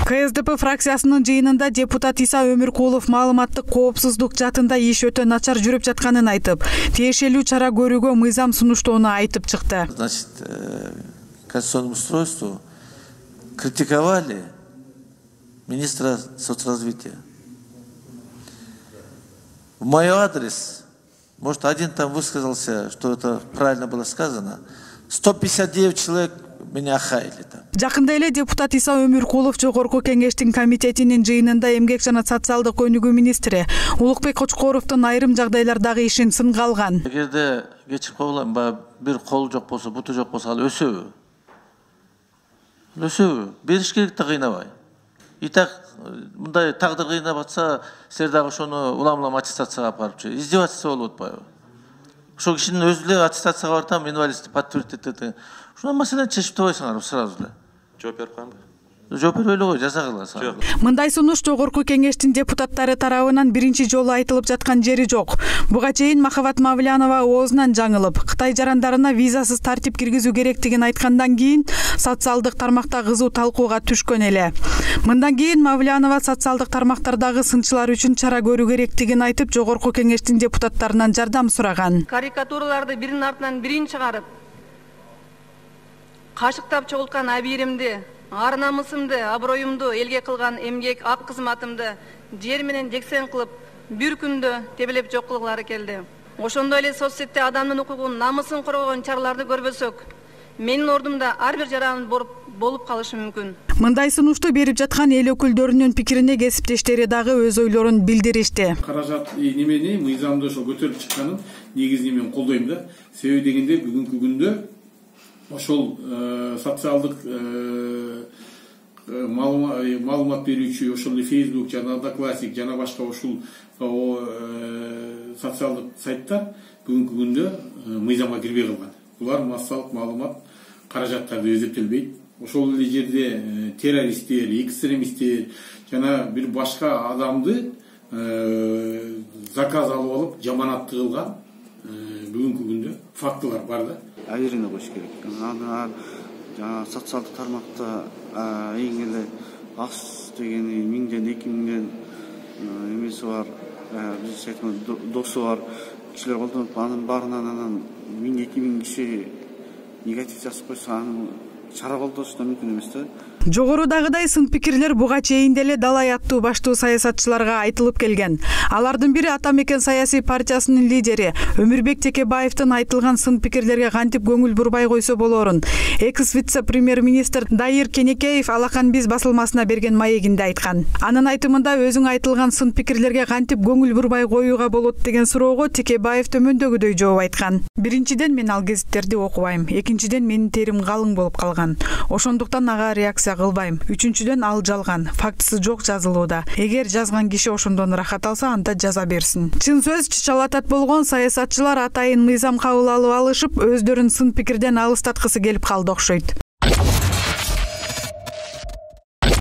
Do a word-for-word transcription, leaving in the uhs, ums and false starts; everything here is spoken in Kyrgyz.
К С Д П фракциясынын жыйынында депутат Иса Өмүркулов маалыматтык коопсуздук жаатында иш өтө начар жүрүп жатканын айтып, тиешелүү чара көрүүгө мыйзам сунуштоону айтып чыкты. Значит, конституционному устройству критиковали министра соцразвития. В мой адрес, может, один там высказался, что это правильно было сказано, сто пятьдесят девять человек меня хаяли там. Жакында эле депутат Иса Өмүркулов Жогорку кеңештин комитетинин жыйынында эмгек жана социалдык өнүгүү министри Улукбек Кочкоровдун айрым жагдайлардагы ишин сынга алган. Эгерде кечирип коелам, бир кол жок болсо, буту жок болсо, ал өсөбү. Өсөбү. Бериш керек да кыйнабай. И так мындай тагдыр кыйнап атса, силер дагы ошону улам-улам аттестацияга алып барып жүрүп, издевательство болуп атпайбы? Ошол кишинин өзү эле аттестацияга бартам, инвалидти подтвердить этет. Ушуна маселени чечип табайсыңар сразу эле. Жооп берип коембу? Жооп бербей эле кой, жаза кыласың. Мындай сунуш Жогорку кеңештин депутаттары тарабынан биринчи жолу айтылып жаткан жери жок. Буга чейин Махабат Мавлянова оозунан жаңылып, Кытай жарандарына визасыз тартип киргизүү керектигин айткандан кийин социалдык тармакта кызуу талкууга түшкөн эле. Мындан кийин Мавлянова социалдык тармактардагы сынчылар үчүн чара көрүү керектигин айтып, Жогорку кеңештин депутаттарынан жардам сураган. Карикатураларды биринин артынан бирин чыгарып, кашыктап чогулткан абийиримди, ар намысымды, аброюмду элге кылган эмгек ак кызматымды жер менен жексен кылып, бир күндө тебелеп жок кылгылары келди. Ошондой эле соц сетте адамдын укугун, намысын коргогон чараларды көрбөсөк, менин ордумда ар бир жаран болуп калышы мүмкүн. Мындай сунушту берип жаткан эл өкүлдөрүнүн пикирине кесиптештери дагы өз ойлорун билдиришти. Каражат немени мыйзамды ошо көтөрүп чыкканын негизинен мен колдойм да. Себеби дегенде бүгүнкү күндө ошол социалдык маалымат берүүчү, ошол Facebook жана Одноклассник жана башка ушул социалдык сайттар бүгүнкү күндө мыйзамга кирбей калган. Булар массалык маалымат каражаттарды эзептелбейт. Ошол эле жерде террористтер, экстремисттер жана бир башка адамды заказ алып алып жаманатты кылган бүгүнкү күндө фактылар бар да. Айрына коюш керек. Аны жана социалдык тармакта эң эле аз дегени миңден эки миңден эмеси бар, биз айткан досу бар кишилер колдонуп, анын баарынан анан миң эки миң киши негатив жазып койсо, аны чара колдош да мүмкүн эмес да. Жогорудагыдай сын пикирлер буга чейин деле Далай аттуу баштуу саясатчыларга айтылып келген. Алардын бири Ата Мекен саясий партиясынын лидери Өмүрбек Текебаевдин айтылган сын пикирлерге кантип көңүл бурбай койсо болорун экс вице-премьер-министр Дайыр Кенекеев Алакан биз басылмасына берген маегинде айткан. Анын айтымында өзүң айтылган сын пикирлерге кантип көңүл бурбай коюуга болот деген суроого Текебаев төмөндөгүдөй жооп айткан. Биринчиден, мен ал гезиттерди окубайм. Экинчиден, менин терим калың болуп калган. Ошондуктан ага реакция кылбайм. Үчүнчүдөн, ал жалган, фактысы жок жазылууда. Эгер жазган киши ошондон рахат алса, анда жаза берсин. Чын сөз, чычалатат болгон саясатчылар атайын мыйзам кабыл алып алышып, өздөрүн сын пикирден алыстаткысы келип калды окшойт.